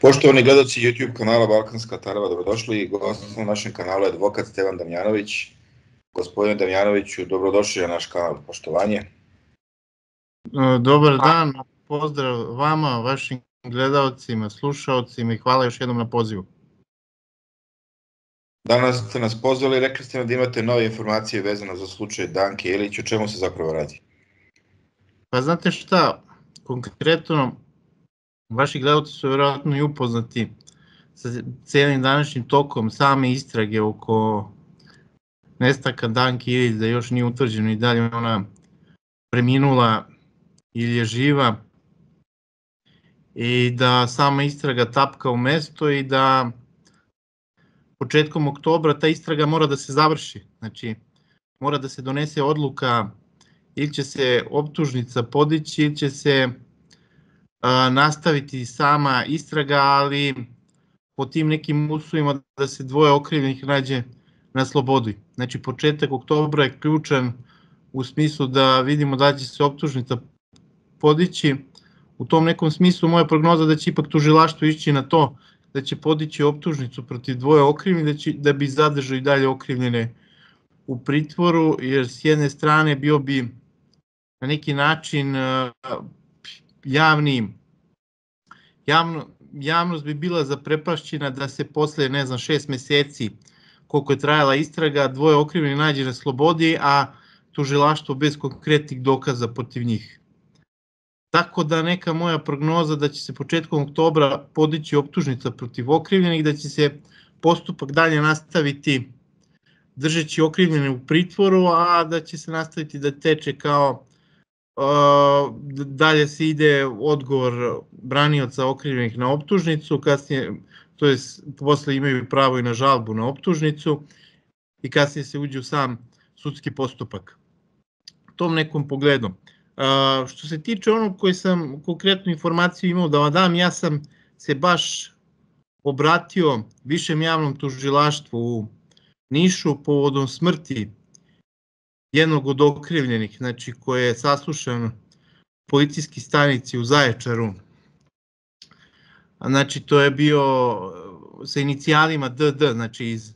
Poštovani gledaoci YouTube kanala Balkanska Tarava, dobrodošli. Gost na našem kanalu je advokat Stevan Damjanović. Gospodine Damjanoviću, dobrodošli na naš kanal, poštovanje. Dobar dan, pozdrav vama, vašim gledaocima, slušaocima i hvala još jednom na pozivu. Danas ste nas pozvali i rekli ste nam da imate nove informacije vezano za slučaj Danke Ilić. O čemu se zapravo radi? Pa znate šta, konkretno, vaši gledaoci su vjerojatno i upoznati sa cijelim današnjim tokom same istrage oko nestanka Danke Ilić, da još nije utvrđeno i dalje ona preminula ili je živa i da sama istraga tapka u mesto i da početkom oktobra ta istraga mora da se završi. Znači, mora da se donese odluka ili će se optužnica podići ili će se nastaviti sama istraga, ali po tim nekim uslovima da se dvoje okrivljenih nađe na slobodi. Znači, početak oktobra je ključan u smislu da vidimo da će se optužnica podići. U tom nekom smislu moja prognoza da će ipak tužilaštvo ići na to da će podići optužnicu protiv dvoje okrivljenih, da bi zadržao i dalje okrivljene u pritvoru, jer s jedne strane bio bi na neki način javnost bi bila zaprepašćena da se posle, 6 meseci koliko je trajala istraga, dvoje okrivljenih nađe na slobodi, a tužilaštvo bez konkretnih dokaza protiv njih. Tako da neka moja prognoza da će se početkom oktobra podići optužnica protiv okrivljenih, da će se postupak dalje nastaviti držeći okrivljene u pritvoru, a da će se nastaviti da teče kao dalje se ide odgovor branioca okrivljenih na optužnicu, kasnije, to je posle imaju pravo i na žalbu na optužnicu i kasnije se uđe u sam sudski postupak. Tom nekom pogledom. Što se tiče onog koji sam konkretnu informaciju imao da vam dam, ja sam se baš obratio Višem javnom tužilaštvu u Nišu povodom smrti jednog od okrivljenih, znači koji je saslušan u policijskoj stanici u Zaječaru. Znači to je bio sa inicijalima DD, znači iz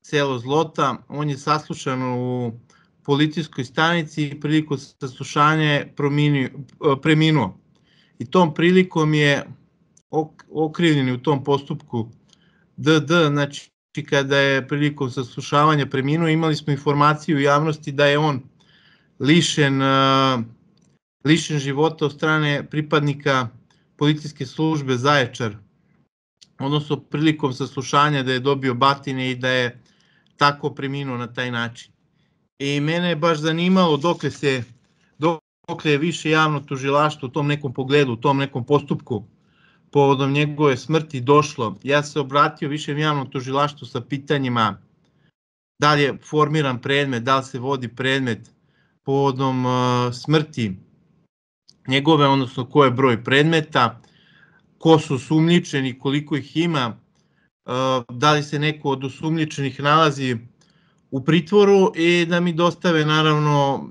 selo Zlota, on je saslušan u policijskoj stanici i prilikom saslušanja je preminuo. I tom prilikom je okrivljeni u tom postupku DD, znači kada je prilikom saslušavanja preminuo, imali smo informaciju u javnosti da je on lišen života od strane pripadnika policijske službe Zaječar, odnosno prilikom saslušanja da je dobio batine i da je tako preminuo na taj način. I mene je baš zanimalo dokle je Više javno tužilaštvo u tom nekom pogledu, u tom nekom postupku povodom njegove smrti došlo. Ja se obratio Višem javnom tužilaštvu sa pitanjima da li je formiran predmet, da li se vodi predmet povodom smrti njegove, odnosno ko je broj predmeta, ko su osumnjičeni, koliko ih ima, da li se neko od osumnjičenih nalazi u pritvoru i da mi dostave naravno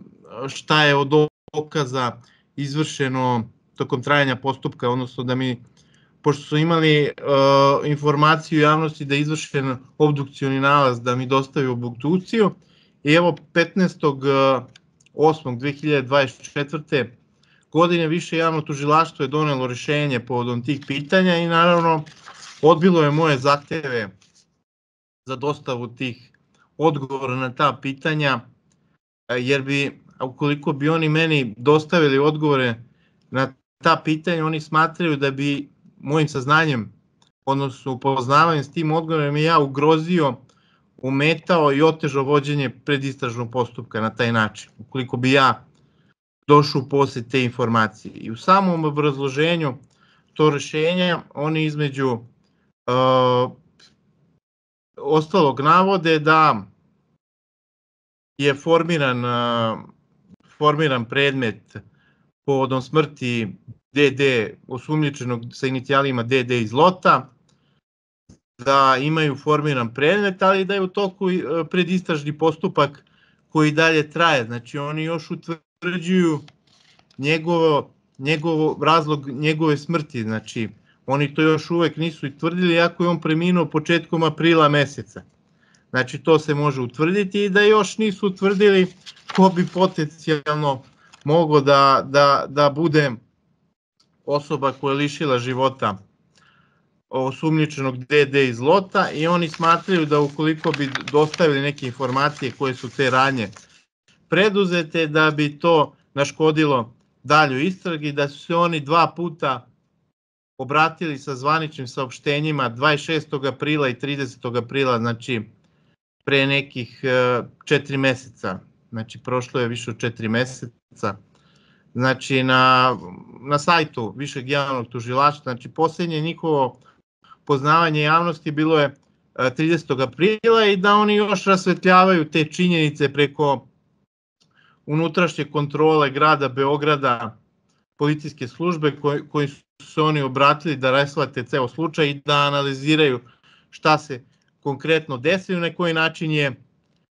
šta je od dokaza izvršeno tokom trajanja postupka, odnosno da mi, pošto su imali informaciju u javnosti da je izvršen obdukcioni nalaz, da mi dostavi obdukciju. I evo 15.8.2024. godine Više javno tužilaštvo je donelo rešenje povodom tih pitanja i naravno odbilo je moje zahteve za dostavu tih odgovora na ta pitanja, jer bi, ukoliko bi oni meni dostavili odgovore na ta pitanja, oni smatraju da bi mojim saznanjem, odnosno upoznavanjem s tim odgovorom ja ugrozio, umetao i otežao vođenje predistražnog postupka na taj način, ukoliko bi ja došao u posjed te informacije. I u samom obrazloženju to rešenja, oni između ostalog navode da je formiran predmet povodom smrti DD, osumnjičenog sa inicijalima DD iz Lota, da imaju formiran predmet, ali da je u toku predistražni postupak koji dalje traje. Znači oni još utvrđuju razlog njegove smrti, znači Oni to još uvek nisu i tvrdili, iako je on preminuo početkom aprila meseca. Znači to se može utvrditi i da još nisu utvrdili ko bi potencijalno mogao da bude osoba koja je lišila života osumnjičenog DD iz Lota, i oni smatraju da ukoliko bi dostavili neke informacije koje su te radnje preduzete, da bi to naškodilo daljoj istragi, da su se oni 2 puta obratili sa zvaničnim saopštenjima 26. aprila i 30. aprila, znači pre nekih 4 meseca, znači prošlo je više od 4 meseca, znači na sajtu Višeg javnog tužilaštva, znači posljednje njihovo poznavanje javnosti bilo je 30. aprila i da oni još rasvetljavaju te činjenice preko unutrašnje kontrole grada Beograda, policijske službe koji su se oni obratili da rasvete ceo slučaj i da analiziraju šta se konkretno desilo, na koji način je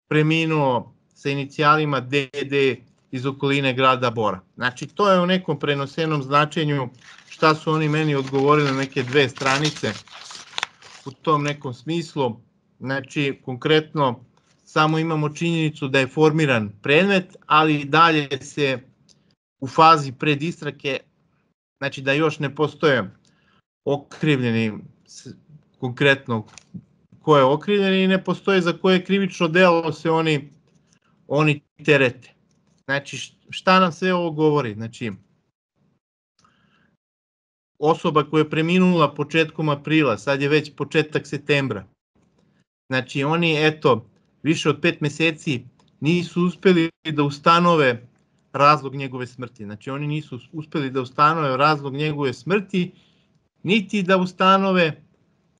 preminuo sa inicijalima DD iz okoline grada Bora. Znači to je u nekom prenosenom značenju šta su oni meni odgovorili na neke 2 stranice u tom nekom smislu. Znači konkretno samo imamo činjenicu da je formiran predmet, ali dalje se u fazi predistrage, znači da još ne postoje okrivljeni, konkretno ko je okrivljen, i ne postoje za koje krivično delo se oni terete. Znači šta nam sve ovo govori? Znači osoba koja je preminula početkom aprila, sad je već početak septembra, znači oni više od 5 meseci nisu uspeli da ustanove razlog njegove smrti. Znači oni nisu uspeli da ustanove razlog njegove smrti, niti da ustanove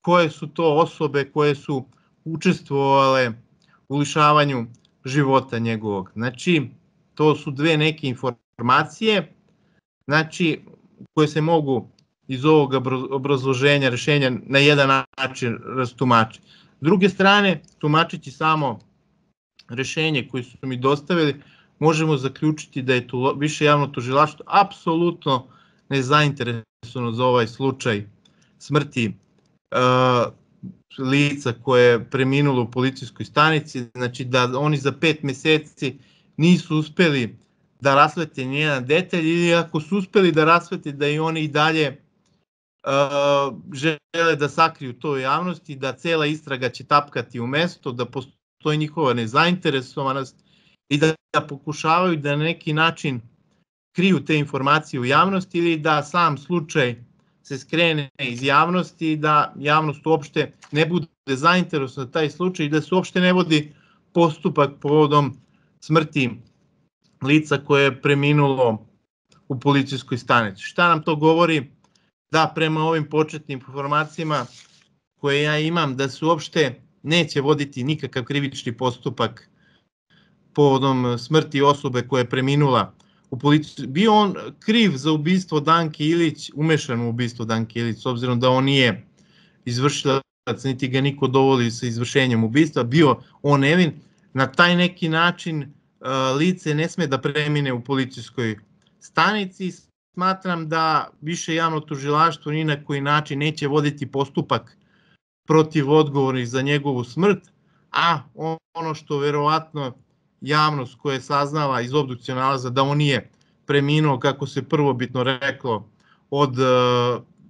koje su to osobe koje su učestvovale u lišavanju života njegovog. Znači to su 2 neke informacije, znači koje se mogu iz ovog obrazloženja, rešenja na jedan način rastumačiti. S druge strane, tumačeći samo rešenje koje su mi dostavili, možemo zaključiti da je Više javno tužilaštvo apsolutno nezainteresovano za ovaj slučaj smrti lica koje je preminulo u policijskoj stanici, znači da oni za 5 meseci nisu uspeli da rasvete nijedan detalj, ili ako su uspeli da rasvete, da i oni i dalje žele da sakriju to u javnosti, da cela istraga će tapkati u mesto, da postoji njihova nezainteresovanost i da pokušavaju da na neki način kriju te informacije u javnosti, ili da sam slučaj se skrene iz javnosti i da javnost uopšte ne bude zainteresovana za taj slučaj i da se uopšte ne vodi postupak povodom smrti lica koje je preminulo u policijskoj stanici. Šta nam to govori? Da prema ovim početnim informacijama koje ja imam, da se uopšte neće voditi nikakav krivični postupak povodom smrti osobe koja je preminula u policiji. Bio on kriv za ubistvo Danke Ilić, umešan u ubistvo Danke Ilić, s obzirom da on nije izvršilac, niti ga niko dovodi sa izvršenjem ubistva, bio on nevin. Na taj neki način lice ne sme da premine u policijskoj stanici. Smatram da Više javno tužilaštvo ni na koji način neće voditi postupak protiv odgovornih za njegovu smrt, a ono što verovatno javnost koja je saznala iz obdukcijnog nalaza da on nije preminuo, kako se prvobitno reklo, od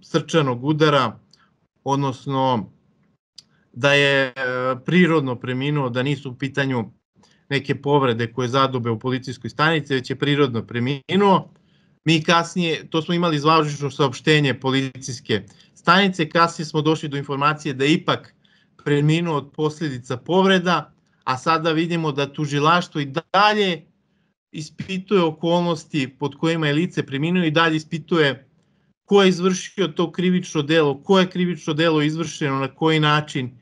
srčanog udara, odnosno da je prirodno preminuo, da nisu u pitanju neke povrede koje zadobe u policijskoj stanici, već je prirodno preminuo. Mi kasnije, to smo imali zvanično saopštenje policijske stanice, kasnije smo došli do informacije da je ipak preminuo od posljedica povreda, a sada vidimo da tužilaštvo i dalje ispituje okolnosti pod kojima je lice preminuo i dalje ispituje ko je izvršio to krivično delo, ko je krivično delo izvršeno, na koji način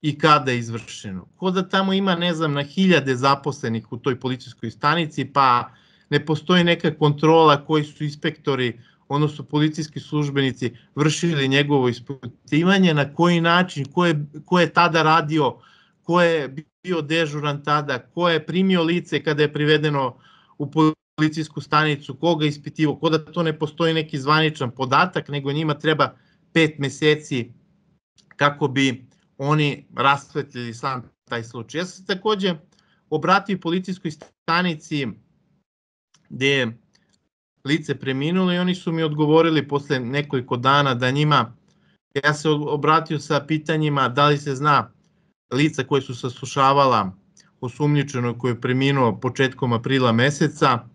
i kada je izvršeno. Ko da tamo ima, ne znam, na 1000 zaposlenih u toj policijskoj stanici, pa ne postoji neka kontrola koji su inspektori, odnosno policijski službenici, vršili njegovo ispitivanje, na koji način, ko je tada radio, ko je bio dežuran tada, ko je primio lice kada je privedeno u policijsku stanicu, koga je ispitivao, ko da to ne postoji neki zvaničan podatak, nego njima treba 5 meseci kako bi oni rasvetljili sam taj slučaj. Ja sam se takođe obratio policijskoj stanici gde je lice preminulo i oni su mi odgovorili posle nekoliko dana da njima, ja se obratio sa pitanjima da li se zna lica koje su saslušavala osumnjičeno koje je preminuo početkom aprila meseca,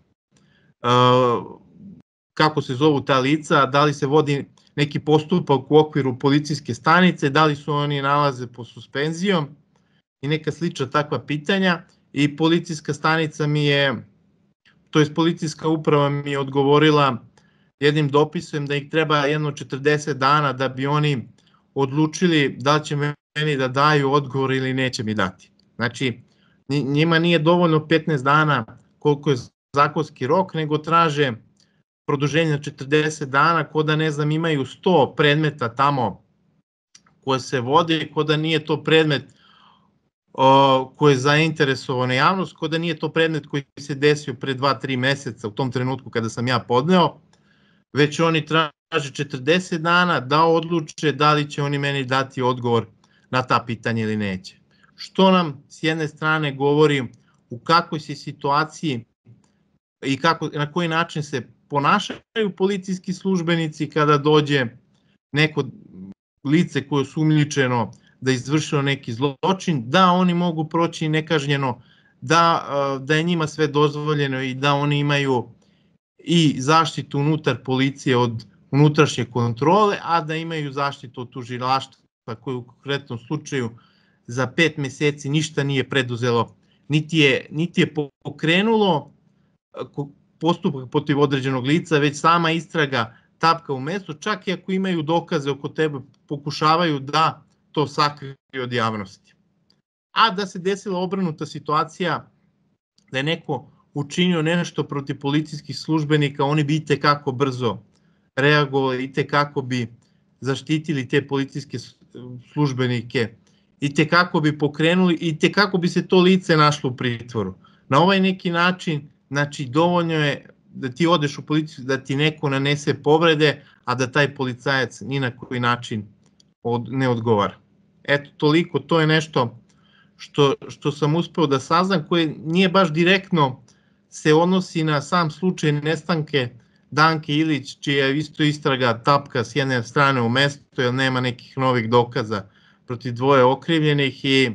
kako se zovu ta lica, da li se vodi neki postupak u okviru policijske stanice, da li su oni nalaze po suspenzijom i neka slična takva pitanja. I policijska stanica mi je, to jest policijska uprava mi je odgovorila jednim dopisom da ih treba jedno 40 dana da bi oni odlučili da li će meni da daju odgovor ili neće mi dati. Znači, njima nije dovoljno 15 dana koliko je zakonski rok, nego traže produženje na 40 dana, ko da ne znam imaju 100 predmeta tamo koje se vode, ko da nije to predmet koji je zainteresovana javnost, ko da nije to predmet koji se desio pre 2-3 meseca u tom trenutku kada sam ja podneo, već oni traže 40 dana da odluče da li će oni meni dati odgovor na ta pitanja ili neće. Što nam s jedne strane govori u kakvoj se situaciji i na koji način se ponašaju policijski službenici kada dođe neko lice koje je osumnjičeno da je izvršilo neki zločin, da oni mogu proći nekažnjeno, da je njima sve dozvoljeno i da oni imaju i zaštitu unutar policije od unutrašnje kontrole, a da imaju zaštitu od tužilaštva koje u konkretnom slučaju za 5 meseci ništa nije preduzelo, niti je pokrenulo postupak protiv određenog lica, već sama istraga tapka u mestu, čak i ako imaju dokaze oko tebe, pokušavaju da to sakriju od javnosti. A da se desila obrnuta situacija, da je neko učinio nešto protiv policijskih službenika, oni bi itekako brzo reagovali, itekako bi zaštitili te policijske službenike, itekako bi pokrenuli, itekako bi se to lice našlo u pritvoru. Na ovaj neki način, znači dovoljno je da ti odeš u policiju, da ti neko nanese povrede, a da taj policajac ni na koji način ne odgovara. Eto, toliko, to je nešto što sam uspeo da saznam, koje nije baš direktno se odnosi na sam slučaj nestanke Danke Ilić, čija je isto istraga tapka s jedne strane u mestu, jer nema nekih novih dokaza protiv dvoje okrivljenih i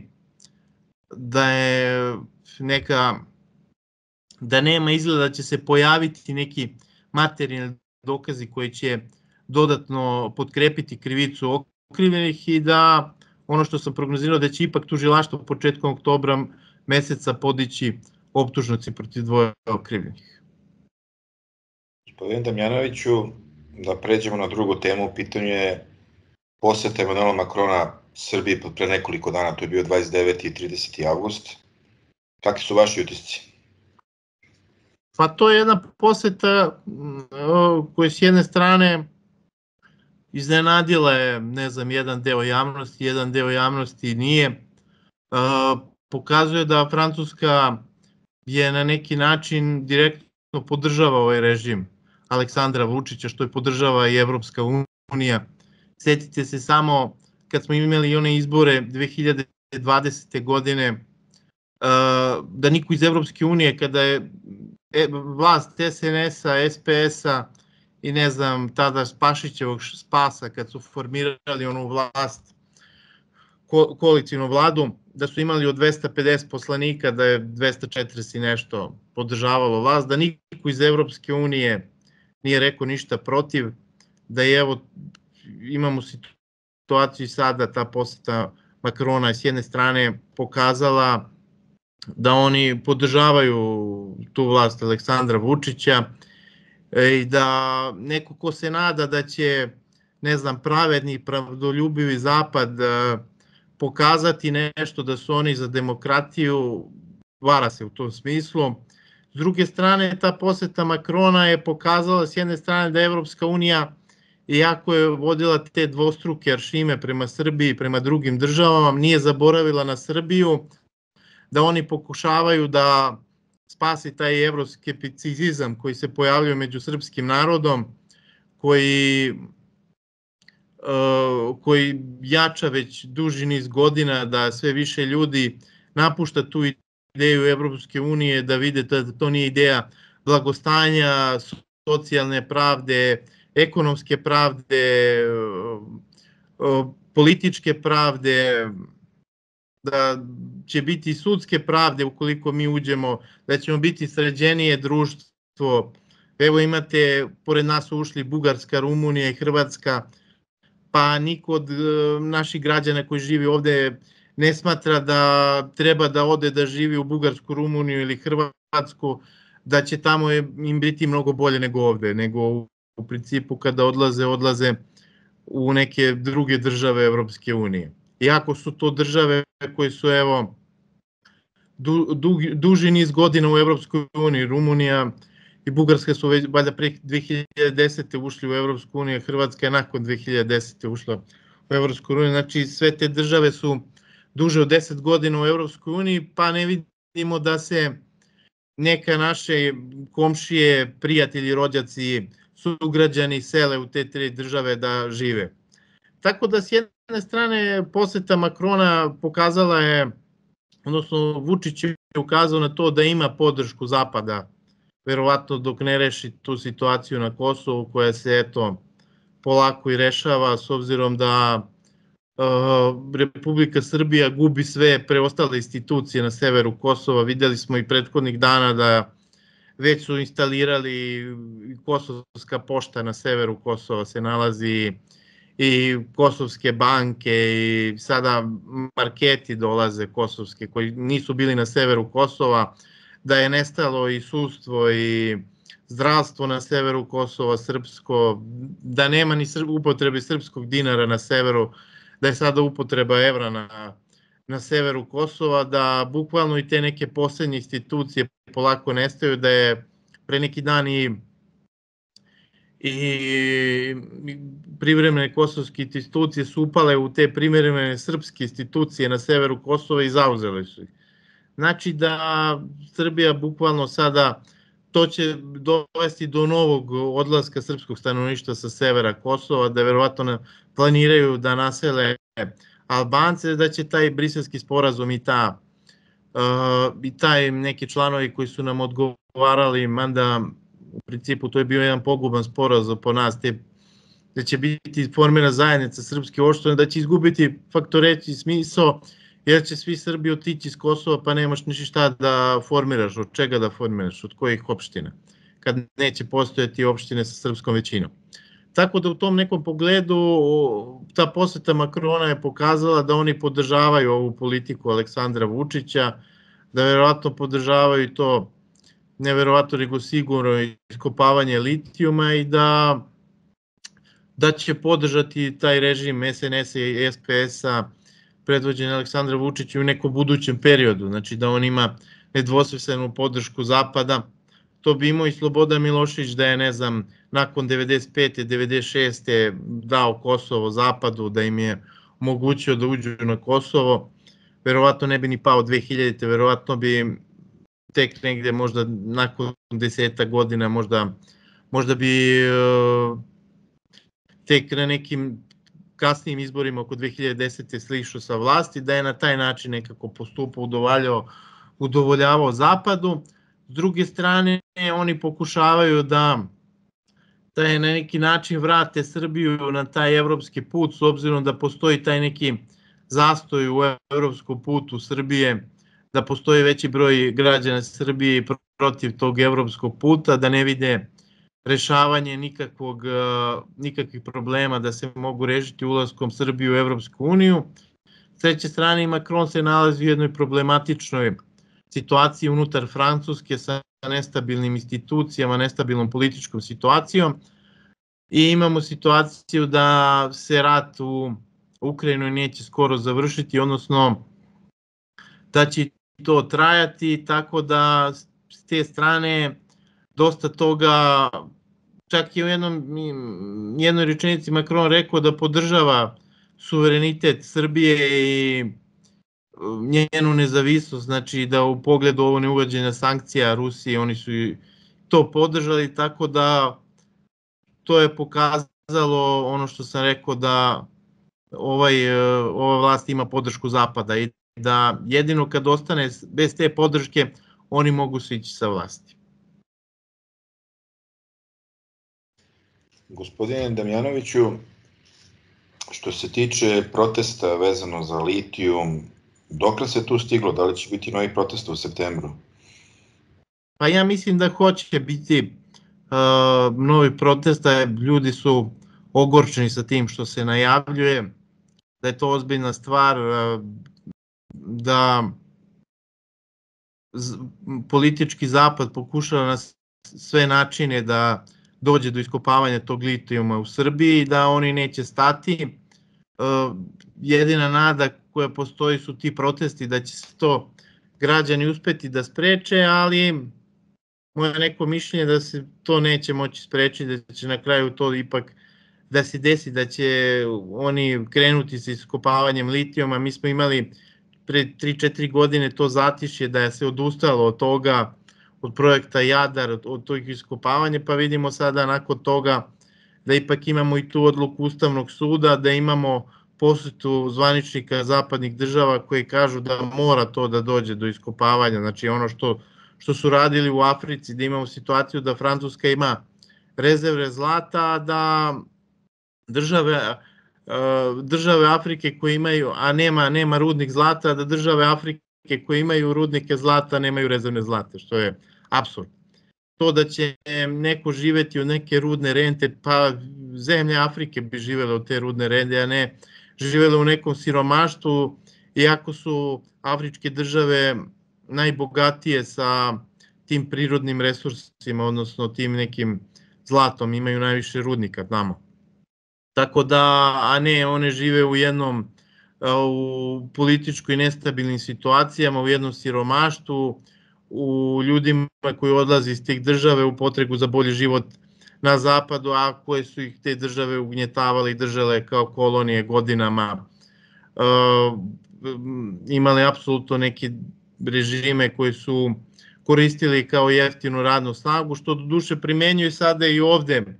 da nema izgleda da će se pojaviti neki materijalni dokazi koji će dodatno potkrepiti krivicu okrivljenih i da ono što sam prognozirao da će ipak tužilaštvo početkom oktobra meseca podići optužnice protiv dvoje okrivljenih. Gospodin Damjanoviću, da pređemo na drugu temu, u pitanju je poseta Emanuela Makrona Srbiji pre nekoliko dana, to je bio 29. i 30. avgust. Kakvi su vaši utisci? Pa to je jedna poseta koja s jedne strane iznenadila je, ne znam, jedan deo javnosti nije. Pokazuje da Francuska je na neki način direktno podržava ovaj režim Aleksandra Vučića, što je podržava i Evropska unija. Sjetite se samo kad smo imali one izbore 2020. godine, da niko iz Evropske unije, kada je vlast SNS-a, SPS-a i ne znam, tada Pašićevog Spasa, kad su formirali onu vlast, koalicijnu vladu, da su imali od 250 poslanika, da je 240 i nešto podržavalo vlast, da niko iz Evropske unije nije rekao ništa protiv, da je evo, imamo situaciju i sada, ta poseta Makrona je s jedne strane pokazala da oni podržavaju tu vlast Aleksandra Vučića i da neko ko se nada da će, ne znam, pravedni, pravdoljubivi zapad pokazati nešto da su oni za demokratiju, vara se u tom smislu. S druge strane, ta poseta Makrona je pokazala s jedne strane da Evropska unija, iako je vodila te dvostruke aršine prema Srbiji, prema drugim državama, nije zaboravila na Srbiju, da oni pokušavaju da spasi taj evroskepticizam koji se pojavljuje među srpskim narodom, koji koji jača već duži niz godina, da sve više ljudi napušta tu ideju Evropske unije, da vide da to nije ideja blagostanja, socijalne pravde, ekonomske pravde, političke pravde, da će biti sudske pravde ukoliko mi uđemo, da ćemo biti sređenije društvo. Evo imate, pored nas su ušli Bugarska, Rumunija i Hrvatska, pa niko od naših građana koji živi ovde ne smatra da treba da ode da živi u Bugarsku, Rumuniju ili Hrvatsku, da će tamo im biti mnogo bolje nego ovde, nego u principu kada odlaze u neke druge države Evropske unije. Iako su to države koje su evo duži niz godina u Evropskoj uniji, Rumunija i Bugarska su već valjda pre 2010. ušli u Evropsku uniju, Hrvatska je nakon 2010. ušla u Evropsku uniju, znači sve te države su duže od 10 godina u Evropskoj uniji, pa ne vidimo da se neka naše komšije, prijatelji, rođaci, sugrađani sele u te 3 države da žive. Tako da s jedne strane poseta Makrona pokazala je, odnosno Vučić je ukazao na to da ima podršku Zapada, verovatno dok ne reši tu situaciju na Kosovu koja se eto polako i rešava s obzirom da Republika Srbija gubi sve preostale institucije na severu Kosova. Videli smo i prethodnih dana da već su instalirali Kosovska pošta na severu Kosova se nalazi i kosovske banke i sada marketi dolaze kosovske koji nisu bili na severu Kosova, da je nestalo i sudstvo i zdravstvo na severu Kosova, srpsko, da nema ni upotrebe srpskog dinara na severu, da je sada upotreba evra na severu Kosova, da bukvalno i te neke poslednje institucije polako nestaju, da je pre neki dan i privremene kosovske institucije su upale u te privremene srpske institucije na severu Kosova i zauzele su ih. Znači da Srbija bukvalno sada, to će dovesti do novog odlaska srpskog stanovništva sa severa Kosova, da verovatno planiraju da nasele Albance, da će taj briselski sporazum i taj neki članovi koji su nam odgovarali, mada u principu to je bio jedan poguban sporazum po nas, da će biti formirana zajednica srpske opštine, da će izgubiti faktoreći smisao, jer će svi Srbi otići iz Kosova, pa nemaš ništa šta da formiraš, od čega da formiraš, od kojih opština, kad neće postojati opštine sa srpskom većinom. Tako da u tom nekom pogledu ta poseta Makrona je pokazala da oni podržavaju ovu politiku Aleksandra Vučića, da verovatno podržavaju to, ne verovatno, nego sigurno iskopavanje litijuma i da će podržati taj režim SNS-a i SPS-a predvođen Aleksandra Vučića u nekom budućem periodu, znači da on ima nedvosmislenu podršku Zapada. To bi imao i Slobodan Milošević da je, ne znam, nakon 95. 96. dao Kosovo Zapadu, da im je omogućio da uđu na Kosovo. Verovatno ne bi ni pao 2000. Verovatno bi tek negde možda nakon 10 godina, možda bi tek na nekim kasnijim izborima oko 2010. slišao sa vlasti, da je na taj način nekako postupao, udovoljavao Zapadu. S druge strane, oni pokušavaju da na neki način vrate Srbiju na taj evropski put, s obzirom da postoji taj neki zastoj u evropskom putu Srbije, da postoji veći broj građana Srbije protiv tog evropskog puta, da ne vide rešavanje nikakvih problema da se mogu rešiti ulaskom Srbije u Evropsku uniju. S treće strane, Macron se nalazi u jednoj problematičnoj situaciji unutar Francuske sa nestabilnim institucijama, nestabilnom političkom situacijom i imamo situaciju da se rat u Ukrajinu neće skoro završiti, odnosno da će to trajati, tako da s te strane dosta toga, čak je u jednoj rečenici Macron rekao da podržava suverenitet Srbije i njenu nezavisnost, znači da u pogledu ovo neuvođenja sankcija Rusije, oni su to podržali, tako da to je pokazalo pokazalo ono što sam rekao da ova vlast ima podršku Zapada i da jedino kad ostane bez te podrške oni mogu sići sa vlasti. Gospodine Damjanoviću, što se tiče protesta vezano za litijum, dokle se tu stiglo? Da li će biti novi protesta u septembru? Pa ja mislim da hoće biti novi protesta, ljudi su ogorčeni sa tim što se najavljuje, da je to ozbiljna stvar, da politički zapad pokušava na sve načine da dođe do iskopavanja tog litijuma u Srbiji, da oni neće stati. Jedina nada koja postoji su ti protesti, da će se to građani uspeti da spreče, ali moje neko mišljenje da se to neće moći sprečiti, da će na kraju to ipak da se desi, da će oni krenuti sa iskopavanjem litijuma. Mi smo imali pre 3-4 godine to zatišje da je se odustalo od toga, od projekta Jadar, od tog iskopavanja, pa vidimo sada nakon toga da ipak imamo i tu odluku Ustavnog suda, da imamo posetu zvaničnika zapadnih država koji kažu da mora to da dođe do iskopavanja. Znači ono što su radili u Africi, da imamo situaciju da Francuska ima rezerve zlata, da države Afrike koje imaju, a nema rudnik zlata, da države Afrike koje imaju rudnike zlata nemaju rezervne zlate, što je apsurd. To da će neko živeti od neke rudne rente, pa zemlje Afrike bi živele od te rudne rente, a ne živele u nekom siromaštvu, iako su afričke države najbogatije sa tim prirodnim resursima, odnosno tim nekim zlatom, imaju najviše rudnika tamo. Tako da, a ne, one žive u političkoj nestabilnim situacijama, u jednom siromaštvu, u ljudima koji odlaze iz tih države u potregu za bolji život na zapadu, a koje su ih te države ugnjetavale i držale kao kolonije godinama, imali apsolutno neke režime koji su koristili kao jeftinu radnu snagu, što do duše primenjuju sada i ovde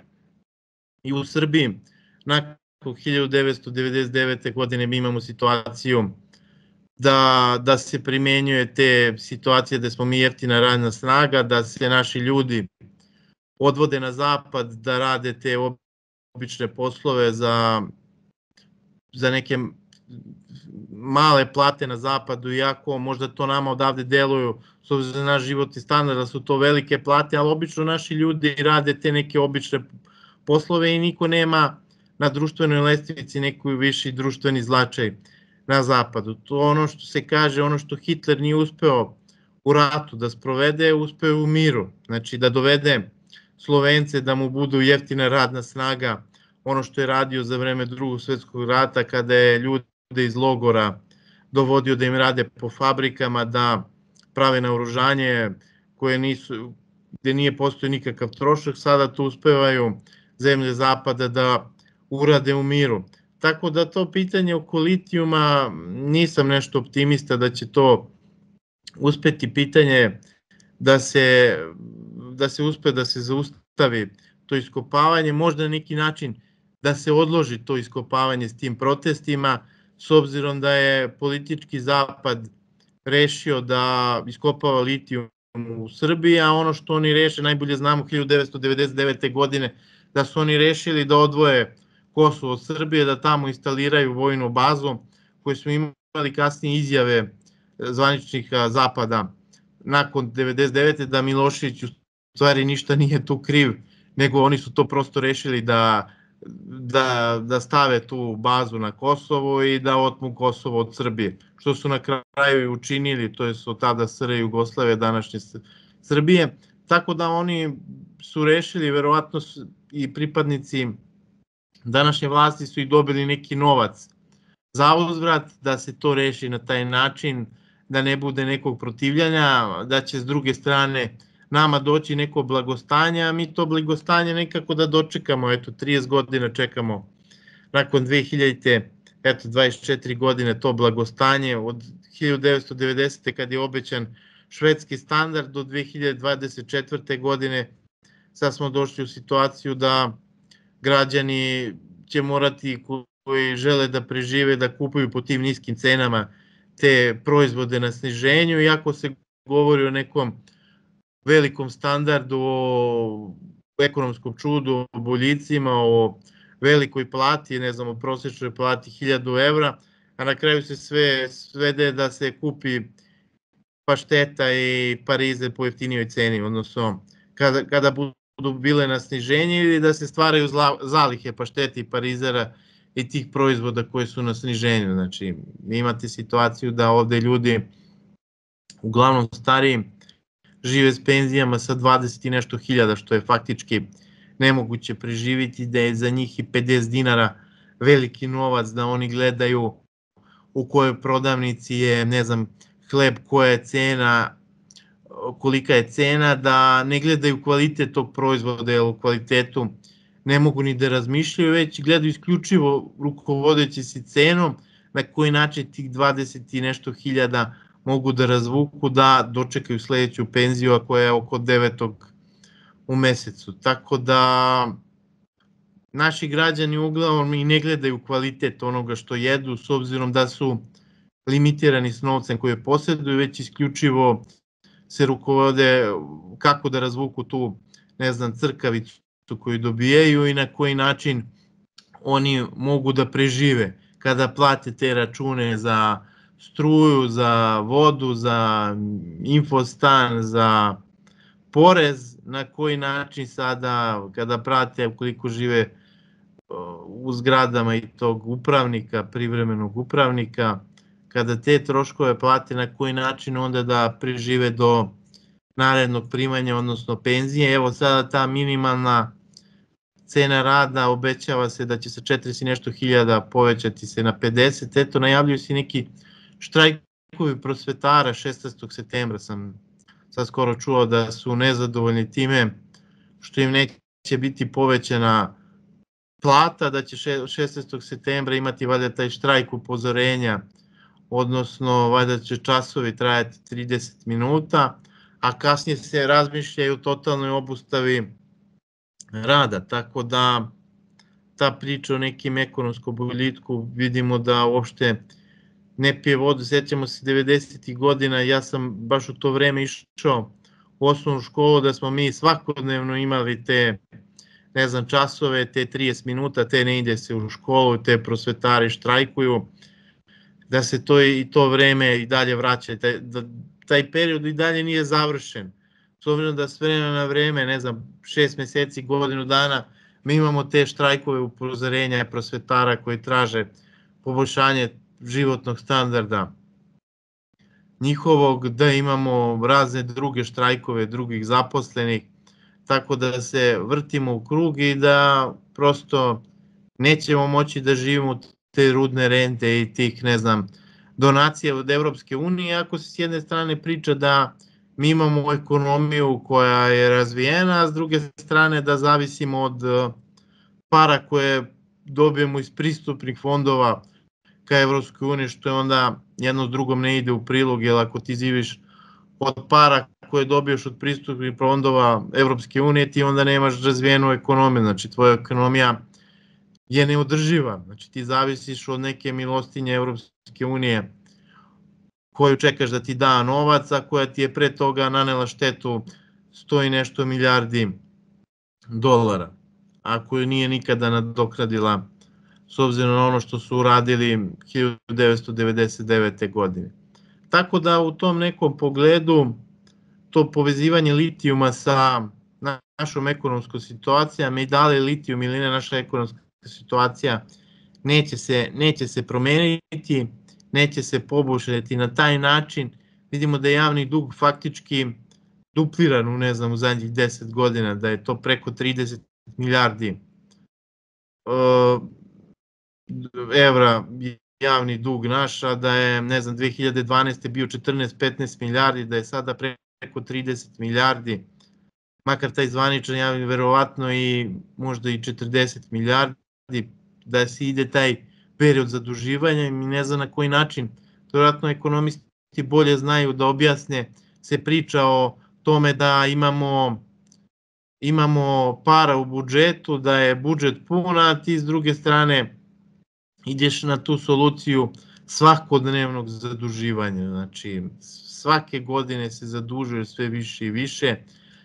i u Srbiji. Nakon 1999. godine mi imamo situaciju da se primenjuje te situacije da smo mi jeftina radna snaga, da se naši ljudi odvode na zapad da rade te obične poslove za neke male plate na zapadu, iako možda to nama odavde deluju, s obzirom na naš životni standard, da su to velike plate, ali obično naši ljudi rade te neke obične poslove i niko nema na društvenoj lestvici neki viši društveni značaj na zapadu. To ono što se kaže, ono što Hitler nije uspeo u ratu da sprovede, uspeo u miru. Znači da dovede Slovence da mu budu jeftina radna snaga, ono što je radio za vreme Drugog svetskog rata kada je ljude iz logora dovodio da im rade po fabrikama, da prave naoružanje gde nije postoji nikakav trošak, sada to uspevaju zemlje zapada da urade u miru. Tako da to pitanje oko litijuma nisam nešto optimista da će to uspeti, pitanje da se uspe da se zaustavi to iskopavanje, možda na neki način da se odloži to iskopavanje s tim protestima, s obzirom da je politički zapad rešio da iskopava litijum u Srbiji, a ono što oni reše, najbolje znamo 1999. godine, da su oni rešili da odvoje Kosovo od Srbije, da tamo instaliraju vojnu bazu, koju smo imali kasnije izjave zvaničnika zapada nakon 1999. da Milošević u stvari ništa nije tu kriv, nego oni su to prosto rešili da stave tu bazu na Kosovo i da otmu Kosovo od Srbije, što su na kraju i učinili, to je od tada SRJ Jugoslavije, današnje Srbije, tako da oni su rešili, verovatno i pripadnici današnje vlasti su i dobili neki novac za uzvrat, da se to reši na taj način, da ne bude nekog protivljanja, da će s druge strane nama doći neko blagostanje, a mi to blagostanje nekako da dočekamo, eto 30 godina čekamo nakon 2000-te, eto 24 godine to blagostanje, od 1990. kad je obećan švedski standard do 2024. godine, sad smo došli u situaciju da građani će morati koji žele da prežive da kupuju po tim niskim cenama te proizvode na sniženju, iako se govori o nekom velikom standardu, o ekonomskom čudu, o boljicima, o velikoj plati, ne znam, o prosječnoj plati 1000 evra, a na kraju se sve svede da se kupi pašteta i parize po jeftinijoj ceni, odnosno kada budu bile na sniženje ili da se stvaraju zalihe pašteta i parizera i tih proizvoda koji su na sniženju. Znači, imate situaciju da ovde ljudi, uglavnom stariji, žive s penzijama sa 20 i nešto hiljada, što je faktički nemoguće preživiti, da je za njih i 50 dinara veliki novac, da oni gledaju u kojoj prodavnici je, ne znam, hleb, koja je cena, kolika je cena, da ne gledaju kvalitet tog proizvoda, jer u kvalitetu ne mogu ni da razmišljaju, već gledaju isključivo rukovodeći se cenom, na koji način tih 20 i nešto hiljada mogu da razvuku, da dočekaju sledeću penziju, a koja je oko 9. u mesecu. Tako da naši građani uglavnom i ne gledaju kvalitet onoga što jedu, s obzirom da su limitirani s novcem koje posjeduju, već isključivo se rukovode kako da razvuku tu, ne znam, crkavicu koju dobijaju i na koji način oni mogu da prežive kada plate te račune za struju, za vodu, za infostan, za porez, na koji način sada kada prate ukoliko žive u zgradama i tog upravnika, privremenog upravnika, kada te troškove plate, na koji način onda da prežive do narednog primanja, odnosno penzije. Evo sada ta minimalna cena rada obećava se da će sa 40 i nešto hiljada povećati se na 50. Eto, najavljuju se neki štrajkovi prosvetara 16. septembra, sam sad skoro čuo da su nezadovoljni time što im neće biti povećana plata, da će 16. septembra imati valjda taj štrajk upozorenja, odnosno valjda će časovi trajati 30 minuta, a kasnije se razmišljaju o totalnoj obustavi rada, tako da ta priča o nekim ekonomskom boljitku vidimo da uopšte ne pije vodu. Sjećamo se 90. godina, ja sam baš u to vreme išao u osnovnu školu, da smo mi svakodnevno imali te, ne znam, časove, te 30 minuta, te ne ide se u školu, te prosvetari štrajkuju, da se to vreme i dalje vraća, da taj period i dalje nije završen. S obzirom da s vremena na vreme, ne znam, 6 meseci, godinu dana, mi imamo te štrajkove upozorenja prosvetara koji traže poboljšanje životnog standarda njihovog, da imamo razne druge štrajkove drugih zaposlenih, tako da se vrtimo u krug i da prosto nećemo moći da živimo te rudne rente i tih, ne znam, donacija od Evropske unije, ako se s jedne strane priča da mi imamo ekonomiju koja je razvijena, a s druge strane da zavisimo od para koje dobijemo iz pristupnih fondova ka Evropskoj uniji, što je onda jedno s drugom ne ide u prilog, jer ako ti živiš od para koje dobiješ od pristupnih fondova Evropske unije, ti onda nemaš razvijenu ekonomiju, znači tvoja ekonomija je neodrživa, znači ti zavisiš od neke milostinje Evropske unije koju čekaš da ti da novac, a koja ti je pre toga nanela štetu 100 i nešto milijardi dolara, a koju nije nikada nadoknadila s obzirom na ono što su uradili 1999. godine. Tako da u tom nekom pogledu to povezivanje litijuma sa našom ekonomskom situacijom i da li litijum ili ne naša ekonomska situacija neće se promeniti, neće se poboljšati na taj način. Vidimo da je javni dug faktički dupliran u, ne znam, u zadnjih 10 godina, da je to preko 30 milijardi evra javni dug naš, a da je, ne znam, 2012. bio 14-15 milijardi, da je sada preko 30 milijardi, makar taj zvaničan javni, verovatno i možda i 40 milijardi, da se ide taj period zaduživanja i ne zna na koji način. Verovatno ekonomisti bolje znaju da objasne, se priča o tome da imamo imamo para u budžetu, da je budžet pun, a ti s druge strane ideš na tu soluciju svakodnevnog zaduživanja. Znači, svake godine se zadužuje sve više i više,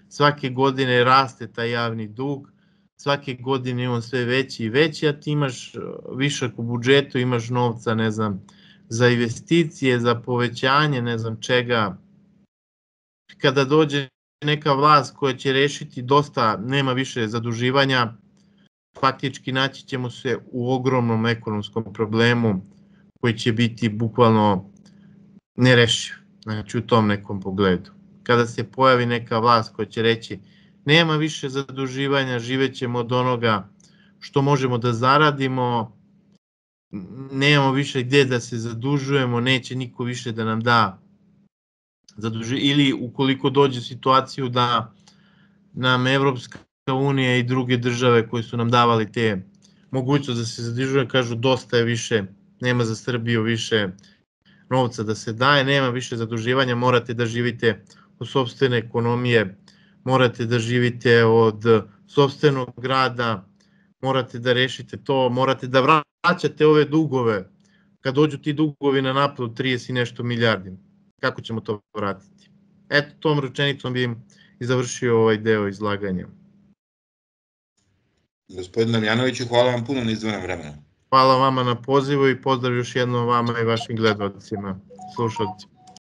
svake godine raste taj javni dug, svake godine je on sve veći i veći, a ti imaš višak u budžetu, imaš novca, ne znam, za investicije, za povećanje, ne znam čega. Kada dođe neka vlast koja će rešiti dosta, nema više zaduživanja, faktički naći ćemo se u ogromnom ekonomskom problemu koji će biti bukvalno nerešiv, znači u tom nekom pogledu. Kada se pojavi neka vlast koja će reći nema više zaduživanja, živećemo od onoga što možemo da zaradimo, nemamo više gde da se zadužujemo, neće niko više da nam da zaduživanje, ili ukoliko dođe u situaciju da nam Evropska unija i druge države koje su nam davali te mogućnosti da se zadužuje, kažu dosta je više, nema za Srbiju više novca da se daje, nema više zaduživanja, morate da živite od sopstvene ekonomije, morate da živite od sopstvenog rada, morate da rešite to, morate da vraćate ove dugove, kad dođu ti dugovi na naplatu 30 i nešto milijardi, kako ćemo to vratiti? Eto, tom rečenicom bi i završio ovaj deo izlaganja. Gospodin Damjanoviću, hvala vam puno na izdvojenom vremenu. Hvala vama na pozivu i pozdrav još jednom vama i vašim gledalcima, slušalcima.